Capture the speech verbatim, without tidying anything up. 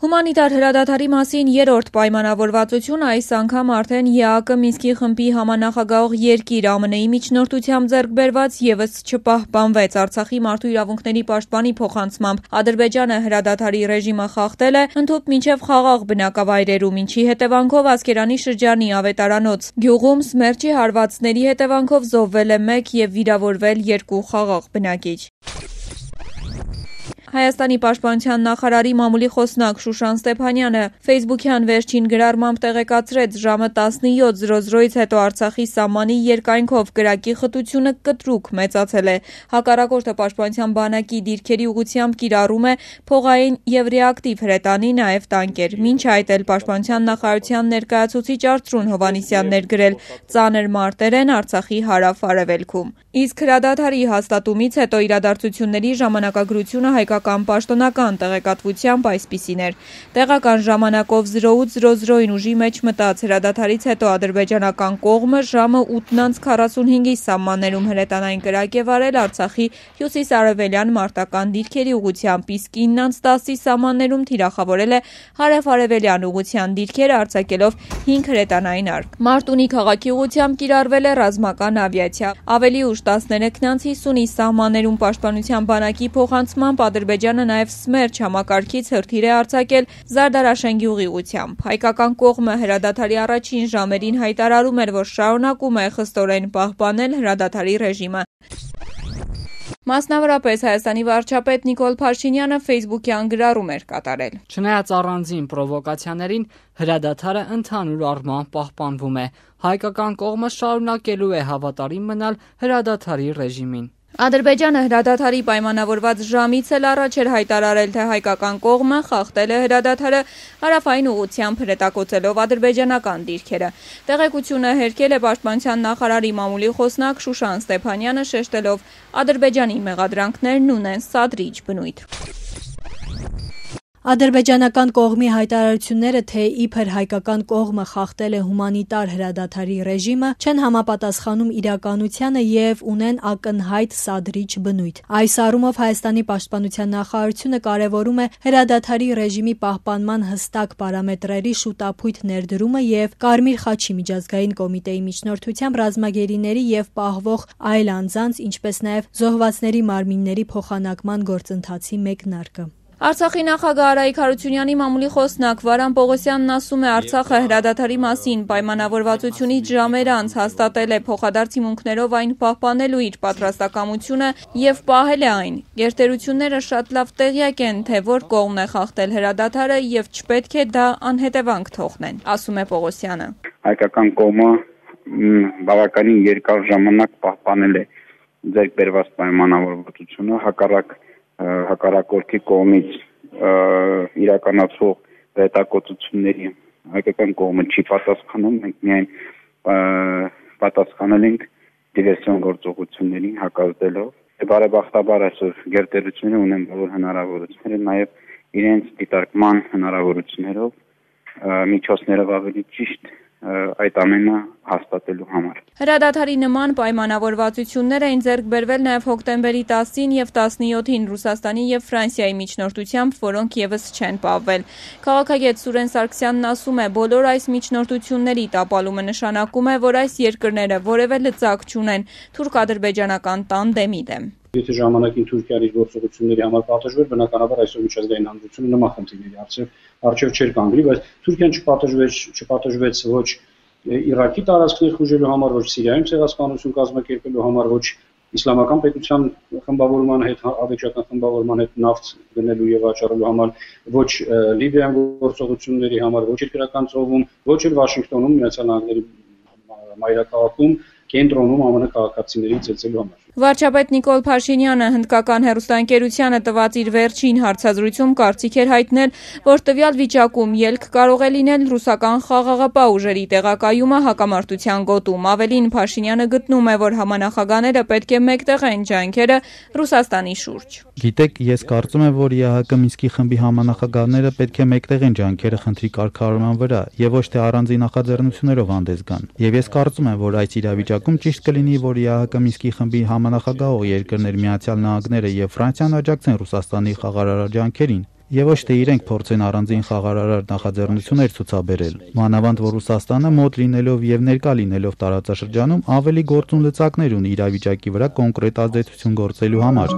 Հումանիտար հրադադարի մասին երրորդ պայմանավորվածությունը այս անգամ արդեն ԵԱԿ Մինսկի խմբի համանախագահող երկիր ԱՄՆ-ի միջնորդությամբ ձեռք բերված ևս չպահպանվեց։ Արցախի մարդու իրավունքների պաշտպանի փոխանցմամբ Ադրբեջանը հրադադարի ռեժիմը խախտել է ընդհուպ մինչև խաղաղ բնակավայրերում, ինչի հետևանքով Ասկերանի շրջանի Ավետարանոց գյուղում սմերչի հարվածների հետևանքով զոհվել է մեկ և վիրավորվել երկու խաղաղ բնակիչ։ Հայաստանի պաշտպանության նախարարի մամուլի խոսնակ Շուշան Ստեփանյանը ֆեյսբուքյան վերջին գրառմամբ տեղեկացրեց ժամը տասնյոթ զրո զրոյից հետո Արցախի սահմանի երկայնքով կրակի խտությունը կտրուկ մեծացել է։ Հակառակորդը պաշտպանության բանակի դիրքերի ուղղությամբ կիրառում է փողային և ռեակտիվ հրետանի, նաև տանկեր։ Մինչ այդ էլ պաշտպանության նախարարության ներկայացուցիչ Արծրուն Հովհաննիսյանն էր գրել ծանր մարտեր են Արցախի հարավ-արևելքում։ Իսկ հրադադարի հաստատումից հետո իրադարձությունների ժամանակագրությունը հայկական պաշտոնական տեղեկատվությամբ այսպիսին էր։ Տեղական ժամանակով զրո ութ զրո զրոյին ուժի մեջ մտած հրադադարից հետո ադրբեջանական կողմը ժամը ութ քառասունհինգի սահմաններում հրետանային կրակ է վարել Արցախի հյուսիս-արևելյան մարտական դիրքերի ուղղությամբ, իսկ ինը տասի սահմաններում թիրախավորել է հարավ-արևելյան ուղղության դիրքերը արձակելով հինգ հրետանային արկ։ Մարտունի քաղաքի ուղղությամբ կիրառվել է ռազմական ավիացիա։ Ավելի ուշ տասներեքն հիսունի սահմաններում պաշտպանության բանակի փոխանցմամբ Ադրբեջանը նաև սմերչ համակարգից հրթիռ է արձակել Զարդարաշեն գյուղի ուղղությամբ։ Հայկական կողմը հրադադարի առաջին ժամերին հայտարարում էր, որ շարունակում է խստորեն պահպանել հրադադարի ռեժիմը։ Մասնավորապես Հայաստանի վարչապետ Նիկոլ Փաշինյանը ֆեյսբուքյան գրառում էր կատարել։ Չնայած առանձին պրովոկացիաներին, հրադադարը ընդհանուր առմամբ պահպանվում է։ Հայկական կողմը շարունակելու է հավատարիմ մնալ հրադադարի ռեժիմին։ Ադրբեջանը հրադադարի պայմանավորված ժամից էլ առաջ էր հայտարարել, թե հայկական կողմը խախտել է հրադադարը հարավային ուղղությամբ հրետակոծելով ադրբեջանական դիրքերը։ Տեղեկությունը հերքել է պաշտպանության նախարարի մամուլի խոսնակ Շուշան Ստեփանյանը, շեշտելով Ադրբեջանի մեղադրանքներն ունեն սադրիչ բնույթ։ Ադրբեջանական կողմի հայտարարությունները, թե իբր հայկական կողմը խախտել է հումանիտար հրադադարի ռեժիմը, չեն համապատասխանում իրականությանը և ունեն ակնհայտ սադրիչ բնույթ։ Այս առումով Հայաստանի պաշտպանության նախարարությունը կարևորում է հրադադարի ռեժիմի պահպանման հստակ պարամետրերի շուտափույթ ներդրումը և Կարմիր խաչի միջազգային կոմիտեի միջնորդությամբ ռազմագերիների և պահվող այլ անձանց, ինչպես նաև զոհվածների մարմինների փոխանակման գործընթացի մեկնարկը։ Արցախի նախագահ Արայիկ Հարությունյանի մամուլի խոսնակ Վարան Պողոսյանն ասում է, Արցախը հրադադարի մասին պայմանավորվածությունից ժամեր անց հաստատել է փոխադարձ հիմունքներով այն պահպանելու իր պատրաստակամությունը և պահել է այն։ Գերտերությունները շատ լավ տեղյակ են, թե որ կողմն է խախտել հրադադարը և չպետք է դա անհետևանք թողնեն, ասում է Պողոսյանը։ Հայկական կողմը բավականին երկար ժամանակ պահպանել է ձեռք բերված պայմանավորվածությունը, հակառակ հակառակորդի կողմից իրականացող հետակոծությունների հայկական կողմը չի պատասխանում, մենք միայն պատասխանել ենք դիվերսիոն գործողություններին հակազդելով։ Բարեբախտաբար այսօր գերտերությունները ունեն բոլոր հնարավորությունները, նաև իրենց դիտարկման հնարավորություններով միջոցներով ավելի ճիշտ այդ ամենը հաստատելու համար։ Հրադադարի նման պայմանավորվածություններ էին ձեռք բերվել նաև հոկտեմբերի տասին և տասնյոթին Ռուսաստանի և Ֆրանսիայի միջնորդությամբ, որոնք ևս չեն պահվել։ Քաղաքագետ Սուրեն Սարգսյանն ասում է, բոլոր այս միջնորդությունների տապալումը նշանակում է, որ այս երկրները որևէ լծակ չունեն թուրք-ադրբեջանական տանդեմի դեմ։ Եթե ժամանակին Թուրքիան իր գործողությունների համար պատժվեր, բնականաբար այսօր միջազգային հանրությունը նման խնդիրների առջև չէր կանգնի, բայց Թուրքիան չպատժվեց, չպատժվեց ոչ Իրաքի տարածքներ խուժելու համար, ոչ Սիրիայում ցեղասպանություն կազմակերպելու համար, ոչ իսլամական պետության խմբավորման հետ, ավեջական խմբավորման հետ նավթ գնելու եւ վաճառելու համար, ոչ Լիբիայում գործողությունների համար, ոչ երկրական ծովում, ոչ էլ Վաշինգտոնում Միացյալ Նահանգների մայրաքաղաքում կենտրոնում ԱՄՆ քաղաքացիների ծեծելու համար։ Վարչապետ Նիկոլ Փաշինյանը հնդկական հեռուստաընկերությանը տված իր վերջին հարցազրույցում կարծիք էր հայտնել, որ տվյալ վիճակում ելք կարող է լինել ռուսական խաղաղապահ ուժերի տեղակայումը հակամարտության գոտում։ Ավելին, Փաշինյանը գտնում է, որ համանախագահները պետք է մեկտեղեն ջանքերը Ռուսաստանի շուրջ։ Գիտեք, ես կարծում եմ, որ ԵԱՀԿ Մինսկի խմբի համանախագահները պետք է մեկտեղեն ջանքերը խնդրի կարգավորման վրա եւ ոչ թե առանձին նախաձեռնություններով հանդես գան։ Եվ ես կարծում եմ, որ այս իրավիճակում ճիշտ կլինի, որ ԵԱՀԿ Մինսկի խմբի համանախագահող երկրներ Միացյալ Նահանգները եւ Ֆրանսիան աջակցեն Ռուսաստանի խաղարարար ջանքերին եւ ոչ թե իրենք փորձեն առանձին խաղարարար նախաձեռնություններ ցուցաբերել։ Մանավանդ որ Ռուսաստանը մոտ լինելով եւ ներկա լինելով տարածաշրջանում ավելի գործուն լծակներ ունի իրավիճակի վրա կոնկրետ ազդեցություն գործելու համար։